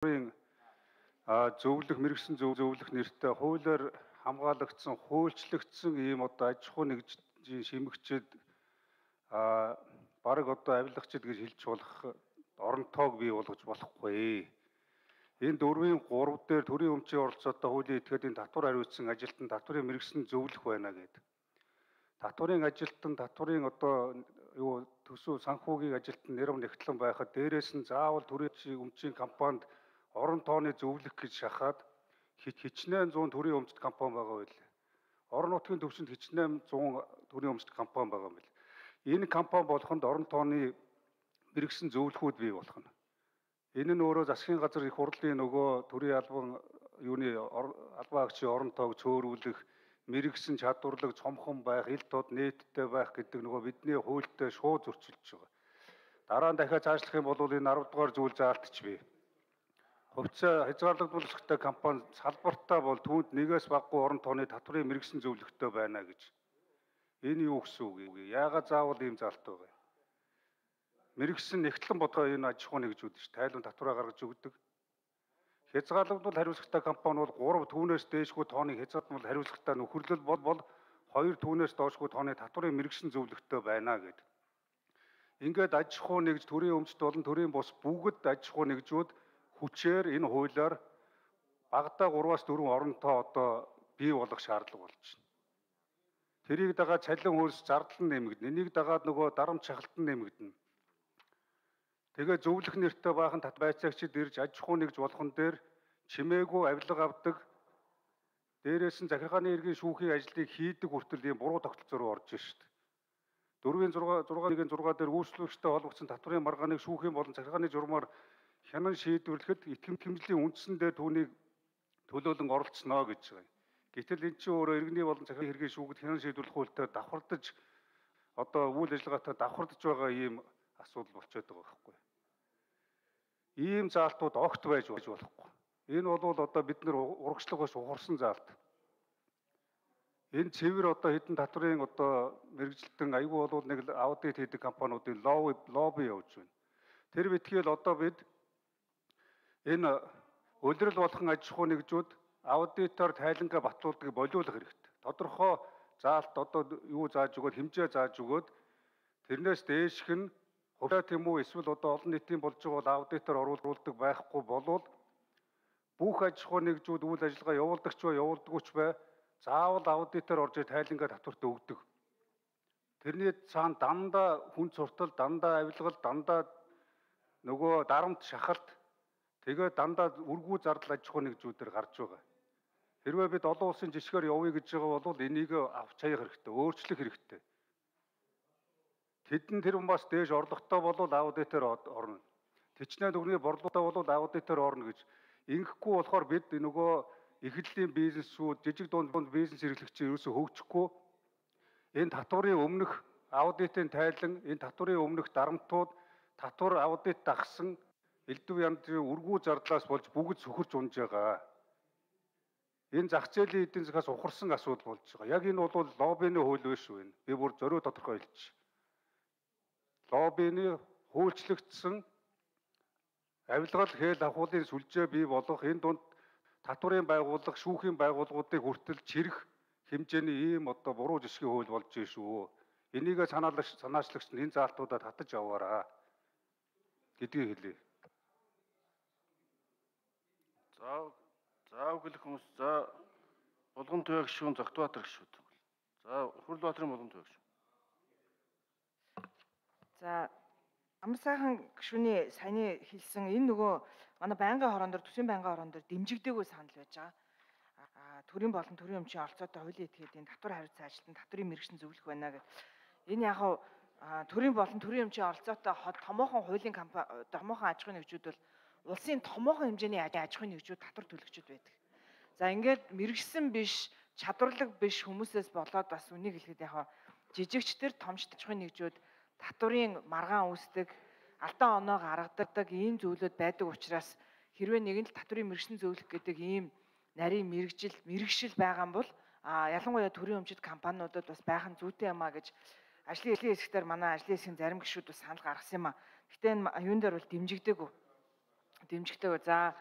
зөвлөх мэрэгсэн зөвлөх нэртэй хуулиар хамгаалагдсан, хуульчлагдсан ийм одоо аж ахуй нэгжийн шимэгчид бараг одоо авилгачид гэж хэлж болох оронтоог бий болгож болохгүй. Энэ 4-3 дээр төрийн өмчийн оролцоотой хуулийн этгээдийн татвар хариуцсан ажилтан татврын мэрэгсэн зөвлөх байна гэдэг. Татврын ажилтан татврын одоо төсөв санхүүгийн ажилтан нэрв нэгтлэн байхад дээрээс нь заавал төрийн өмчийн компанид орон тооны зөвлөх гэж шахаад хичнээн 100 төрийн өмчт компани байгаа байлээ. Орон нутгийн төвшөнд хичнээн 100 төрийн өмчт компани байгаа юм байна. Энэ компани болохонд орон тооны мэрэгсэн зөвлөхүүд бий болох нь. Энэ нь өөрөө засгийн газар их хурлын нөгөө төрийн албан агчийн орон тоог цөөрүүлэх, мэрэгсэн чадварлаг цомхон байх, ил тод нээлттэй байх гэдэг нөгөө бидний хуультай шууд зөрчилдөж байгаа. Дараа нь дахиад цаашлах юм бол энэ 10 дугаар зүйл заалтч бий. Хувьцаа хязгаарлагдуулалттай компани салбартаа бол түүнд нэгээс багагүй орон тооны татврын мэрэгсэн зөвлөхтэй байна гэж. Энэ юу гэсэн үг вэ? Яагаад заавал ийм заалт байгаа юм? Мэрэгсэн нэгтлэн бодгоо энэ аж ахуй нэгжүүд ш. Тайлбар татвараа гаргаж өгдөг. Хязгаарлагдвал хариуцлагатай компани бол 3 түүнээс дээшгүй тооны хязгаарлагдвал хариуцлагатай нөхөрлөл бол 2 түүнээс доошгүй тооны татврын мэрэгсэн зөвлөхтэй байна гэдэг. Ингээд аж ахуй нэгж төрийн өмчт болон төрийн бус бүгд аж ахуй нэгжүүд хүчээр энэ хуулиар багадаа 3-4 оронтой одоо бий болох шаардлага болж байна. Тэрийг дагаад цалин хөлс зардал нь нэмэгдэнэ. Энийг дагаад нөгөө дарамт шахалтан нэмэгдэнэ. Тэгээ зөвлөх нэртэй баахан байцаагчид ирж аж ахуй нэгж болгон дээр чимээгүй авилга авдаг. Дээрээс нь захиргааны иргэн шүүхийн ажлыг хийдэг хүртэл ийм буруу тогтолцоо руу орж шүү дээ. 4-6-1-6 дээр үйлчлүүлэгчтэй холбогдсон татврын маргааныг шүүхийн болон захиргааны журмаар хянан шийдвэрлэхэд итгэмжлийн үндсэн дээр түүнийг төлөөлөн оролцсноо гэж байгаа. Гэтэл эн чинь өөрөө иргэний болон захиргааны хэргийн шүүгд хянан шийдвэрлэх хуультай давхардаж одоо үйл ажиллагаатай давхардаж байгаа ийм асуудал болчиход байгаа байхгүй. Ийм заалтууд огт байж болохгүй. Энэ бол одоо бид нэр урагшлагаас ухарсан заалт. Энэ цэвэр одоо хэдэн татврын одоо мэрэгжилтэн аягүй бол нэг аудит хийдэг компаниудын лобби явуулж байна. Тэр битгийл одоо бид энэ улирал болгон аж ахуй нэгжүүд аудитор тайлангаа батлуулдаг болиулах хэрэгтэй. Тодорхой заалт одоо юу зааж өгөөд хэмжээ зааж өгөөд тэрнээс дээшх нь хувьцаа тийм үү эсвэл одоо олон нийтийн болж байгаа бол аудитор оруулдаг байхгүй болвол бүх аж ахуй нэгжүүд үйл ажиллагаа явуулдагч ба явуулдагч бай заавал аудитор орж тайлангаа татварт өгдөг. Тэрний цаана дандаа хүн суртал, дандаа авилгал, дандаа нөгөө дарамт шахалт тэгээ дандаа үргүү зардал аж ахуй нэгжүүдээр гарч байгаа. Хэрвээ бид олон улсын жишгээр явъя гэж байгаа бол энийг авч хаях хэрэгтэй, өөрчлөх хэрэгтэй. Тэдэн тэрэн бас дээш орлоготой болвол аудитор орно. Тэчнээ төгрөгийн борлуулалтаа болвол аудитор орно гэж. Ингэхгүй болохоор бид нөгөө эхлэлийн бизнесүүд, жижиг дунд бизнес эрхлэгчид ерөөсөө хөгжихгүй. Энэ татварын өмнөх аудитын тайлан, энэ татварын өмнөх дарамтууд, татвар аудит дагсан элдв янзын үргүү зардлаас болж бүгд сөхөрч унж байгаа. Энэ зах зээлийн эдийн засгаас ухарсан асуудал болж байгаа. Яг энэ бол лоббины хууль биш үү энэ. Би бүр зориуд тодорхой хэлчих. Лоббины хуульчлагдсан авилгал хээл ахуулын сүлжээ бий болгох энэ дунд татварын байгууллага, шүүхийн байгууллагуудыг хүртэл чирэх хэмжээний ийм одоо буруу жишгийн хууль болж байна шүү. Энийг санаачлагч нь энэ заалтуудаа татаж аваараа гэдгийг хэлье. За өглөх хүмүүс за Булган Туяа гишүүн Зогтбаатар гишүүд. За Хүрлбаатарын Булган Туяа гишүүн. За амар сайхан гишүүний саяны хэлсэн энэ нөгөө манай байнгын хорон дээр төсвийн байнгын хорон дээр дэмжигдээгүй санал байж байгаа. Төрийн болон төрийн өмчийн оролцоотой хуулийн этгээдийн татвар хариуцсан ажилтан татврын мэрэгсэн зөвлөх байна гэдэг. Энэ яг төрийн болон төрийн өмчийн оролцоотой томоохон хуулийн томоохон аж ахуйн нэгжүүд бол улсын томоохон хэмжээний аж ахуйн нэгжүүд татвар төлөгчд байдаг. За ингээд мэрэгсэн биш, чадварлаг биш хүмүүсээс болоод бас үнийг хэлэхэд яг жижигчдэр томч аж ахуйн нэгжүүд татварын маргаан үүсдэг, алдаа оноо гаргадаг ийм зүйлүүд байдаг учраас хэрвээ нэгэн л татврын мэрэгсэн зөвлөх гэдэг ийм нарийн мэрэгшил байгаа юм бол ялангуяа төрийн өмчит компаниудад бас байх нь зүйтэй юм а гэж ажлын хэсгээр манай ажлын хэсгийн зарим гишүүд бас санал гаргасан юм а. Гэхдээ энэ юун дээр бол дэмжигдээгүй. дэмжигтэй. За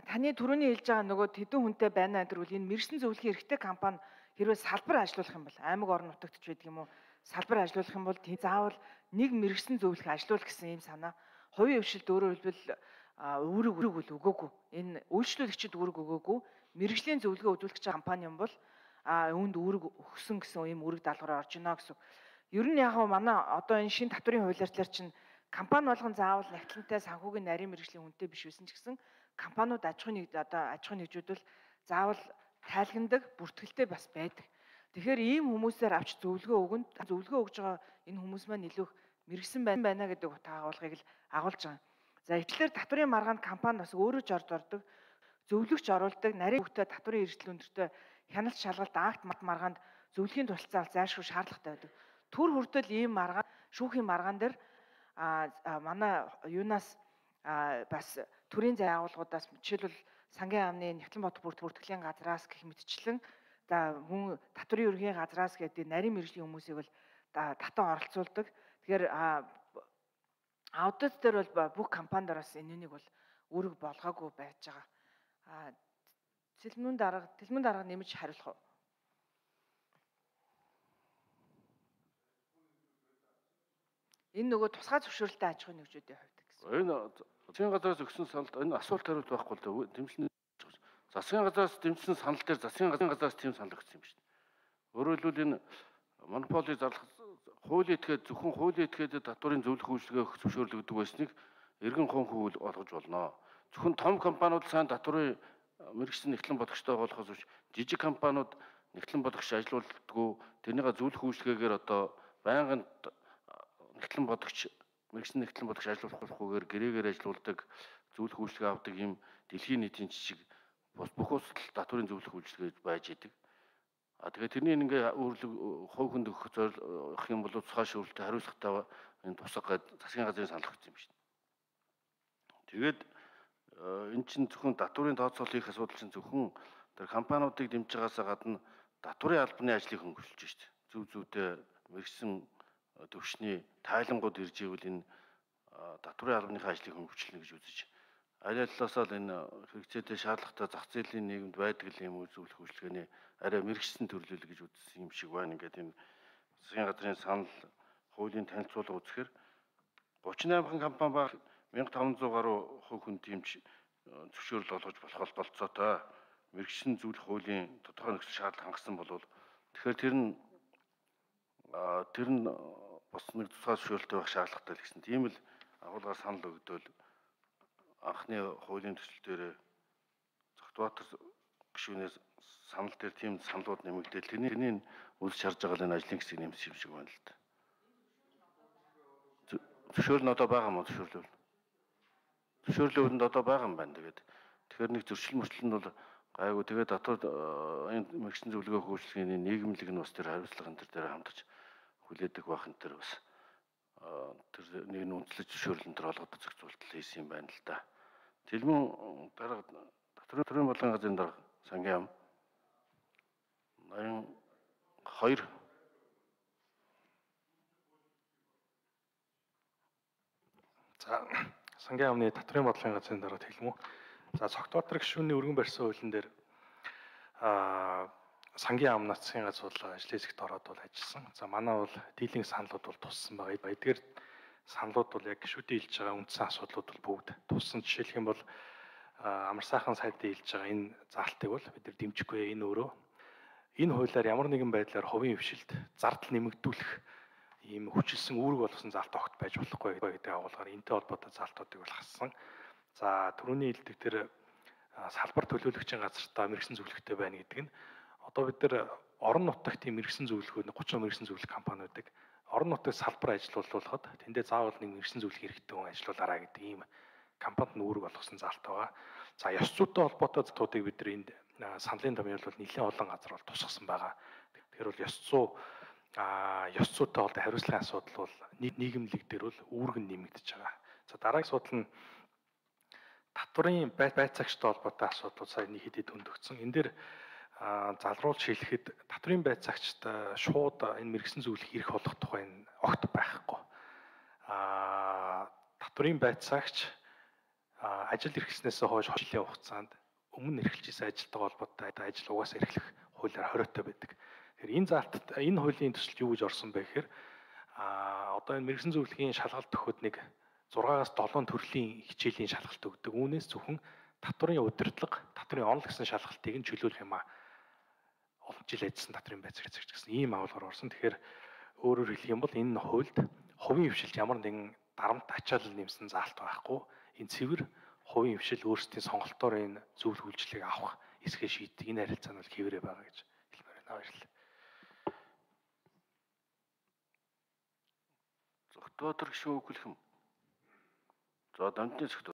таны түрүүний хэлж байгаа нөгөө тэдэн хүнтэй байна гэдэг үл энэ мэрэгсэн зөвлөхийн эрхтэй компани хэрвээ салбар ажилуулах юм бол аймаг орон нутагт ч байдаг юм уу салбар ажилуулах юм бол заавал нэг мэрэгсэн зөвлөх ажилуулах гэсэн ийм санаа. Хувийн хвшилд өөрөөр хэлбэл үүрэг үл өгөөгүй. Энэ үйлчлүүлэгчид үүрэг өгөөгүй. Мэргэжлийн зөвлөгөө үзүүлэх компани юм бол үүнд үүрэг өгсөн гэсэн ийм үүрэг даалгавраар орж ийнэ гэсэн. Ер нь яг манай одоо энэ шин татврын хуулиар чинь компани болгон заавал нягтлантай санхүүгийн нарийн мэргэжлийн хүнтэй биш байсан ч гэсэн компаниуд аж ахуйн нэгжүүд заавал тайлгандаг, бүртгэлтэй бас байдаг. Тэгэхээр ийм хүмүүсээр авч зөвлөгөө өгж байгаа энэ хүмүүс маань илүү мэрэгсэн байна гэдэг утга агуулгыг л агуулж байгаа. За итлэр татврын маргаанд компани бас өөрөө ч ордог, зөвлөгч оруулдаг, нарийн хөвгтөд татврын эрсдэл өндөртэй хяналт шалгалт акт маргаанд зөвлөхийн туршлагаа зайлшгүй шаардлагатай байдаг. Түр хүртэл ийм маргаан, шүүхийн маргаан дээр манай юунаас бас төрийн зай агуулгуудаас жишээлбэл сангийн амны Нягтлан бот бүртгэлийн газраас гэх мэтчлэн за хүн татврын ерөнхий газраас гэдэг нарийн мэргэжлийн хүмүүсийг бол татан оролцуулдаг. Тэгэхээр аудит дээр бол бүх компанидаар бас энэнийг бол үүрэг болгоогүй байж байгаа. Тэлмэн дарга нэмж хариулах уу? Энэ нөгөө тусгай зөвшөөрлөлтэй аж ахуйн нэгжүүдийн хувьд гэсэн. Энэ засгийн газраас өгсөн саналд энэ асуулт хариулт байхгүй л дээ. Дэмжлэн засгийн газраас дэмжсэн санал дээр засгийн газраас тийм санал өгсөн юм шүү дээ. Өөрөөр хэлбэл энэ монополи зарлах хуулийн этгээд зөвхөн хуулийн этгээд татврын зөвлөх үйлчилгээ зөвшөөрлөг өгдөг байсныг эргэн хонхүүл олгож болно. Зөвхөн том компаниуд сайн татврын мэргэжсэн нэгтлэн бодогчтой болохоос биш жижиг компаниуд нэгтлэн бодогч ажилуулдаггүй тэрнийга зөвлөх үйлчилгээгээр одоо байнгын нэгтлэн бодогч мэргэжсэн нэгтлэн бодогч ажилуулахгүйгээр гэрээгээр ажилуулдаг зөвлөх үйлчилгээ авдаг юм дэлхийн нийтийн жижиг бүх улсад татврын зөвлөх үйлчилгээ байж идэг. Тэгээд тэрний ингээ хувь хүнд өгөх зорилго юм бол цусгай шүүрэлтэд хариуцлагатай энэ тусах засгийн газрын санал өгсөн юм шүү дээ. Тэгээд энэ чинь зөвхөн татврын тооцоолол хийх асуудал чинь зөвхөн тэр компаниудыг дэмжиж байгаасаа гадна татврын албаны ажлыг хөнгөлж шүү дээ. Зөв зүйтэй мэргэжсэн төвшний тайлангууд ирж ивэл энэ татврын албаныхаа ажлыг хөнгөвчлөнө гэж үзэж аль аллаасаа л энэ хэрэгцээтэй шаардлагатай зах зээлийн нийгэмд байдаг юм үзүүлэх үйлчлэгээний арай мэргэжсэн төрлөл гэж үзсэн юм шиг байна. Ингээд энэ засгийн газрын санал хуулийн танилцуулга үзэхээр 38 компани ба 1500 гаруй хувь хүн дэмж зөвшөөрөл олгож болох болцоотой мэргэжсэн зөвлөх хуулийн тодорхой нөхцөл шаардлага хангасан болвол тэгэхээр тэр нь бас нэг тусгай зөвшөөрөлтэй байх шаардлагатай л гэсэн тийм л агуулгаар санал өгдөөл анхны хуулийн төсөл дээр Зогтбаатар гишүүнээс санал дээр тийм саналууд нэмэгдээл тэрний үл шарж байгаа энэ ажлын хэсэг нэмсэн юм шиг байна л да. Зөвшөөрөл нь одоо байгаа юм уу зөвшөөрлөв? Зөвшөөрлөвөнд одоо байгаа юм байна. Тэгэхээр нэг зөрчил мөрчлөл нь бол гайгүй тэгээд дотоод энэ мэргэжсэн зөвлөгөө хөгжлөгийн нийгэмлэг нь бас тэр хариуцлага энэ дээр хамтарч хүлээдэг байх энэ төр бас тэр нэг нь үндэслэж зөвшөөрлөн төр олгоод зохицуулалт хийсэн юм байна л да. Тэлмэн дарга татврын болгон газрын дарга сангийн ам 82 За сангийн амны татврын бодлогын газрын дарга Тэлмэн. За Цогтбаатар гишүүний өргөн барьсан хуулийн дээр сангийн ам нацгийн газруулга ажлын хэсэгт ороод бол ажилласан. За манай бол дийлэнх саналуд бол туссан байгаа. Эдгээр саналуд бол яг гишүүдийн хэлж байгаа үндсэн асуудлууд бол бүгд туссан. Жишээлх юм бол амар сайхан сайдын хэлж байгаа энэ заалтыг бол бид нар дэмжихгүй. Энэ өөрөө энэ хуулиар ямар нэгэн байдлаар хувийн хвшилд зардал нэмэгдүүлэх ийм хүчилсэн үүрэг болгосон заалт огт байж болохгүй гэдэг агуулгаар энэтэй холбоотой заалтуудыг бол хассан. За түрүүний хэлдэг тэр салбар төлөөлөгчийн газартаа мэргэжсэн зөвлөгтэй байна гэдэг нь одоо бид нар орон нутагт тийм мэргэжсэн зөвлөгөө 30 мэргэжсэн зөвлөх компаниудыг орон нутагт салбар ажилуулахад тэндээ заавал нэг мэргэжсэн зөвлөх хэрэгтэй хүн ажилуулаарай гэдэг ийм компанид үүрэг болгосон заалт байгаа. За ёс зүйтэй холбоотой залтуудыг бид нар энд саналын томьёолол нэлээд олон газар бол тусгасан байгаа. Тэгэхээр бол ёс зүйтэй холбоотой хариуцлагын асуудал бол нийгэмлэг дээр бол үүрэг нэмэгдэж байгаа. За дараагийн асуудал нь татврын байцаагчтай холбоотой асуудлууд сая нэг хэдэд хөндөгдсөн. Энэ дээр залруулж хэлэхэд татврын байцаагчд шууд энэ мэргэжсэн зөвлөх эрх олох тухай огт байхгүй. Татврын байцаагч ажил эрхлснээс хойш жилийн хугацаанд өмнө эрхэлж исэн ажилтайгаа холбоотой ажил угаасаа эрхлэх хуулиар хориотой байдаг. Тэгэхээр энэ заалтад энэ хуулийн төсөлд юу гэж орсон бэ гэхээр одоо энэ мэрэгсэн зөвлөхийн шалгалт өгөхөд нэг 6-аас 7 төрлийн хичээлийн шалгалт өгдөг. Үүнээс зөвхөн татврын удирдлага, татврын онол гэсэн шалгалтыг нь чөлөөлөх юм олон жил ажилласан татврын байцаагч гэсэн ийм агуулгаар орсон. Тэгэхээр өөрөөр хэлэх юм бол энэ хуульд хувийн хвшилд ямар нэгэн дарамт ачаалал нэмсэн заалт байхгүй. Энэ цэвэр хувийн хвшил өөрсдийн сонголтоор энэ зөвлөх үйлчлэгийг авах эсгээ шийддэг. Энэ харилцаа нь бол хэвээрээ байгаа гэж хэлмээр байна. Баярлалаа. Зөвхөн гишүүн үг хэлэх юм. За дамжны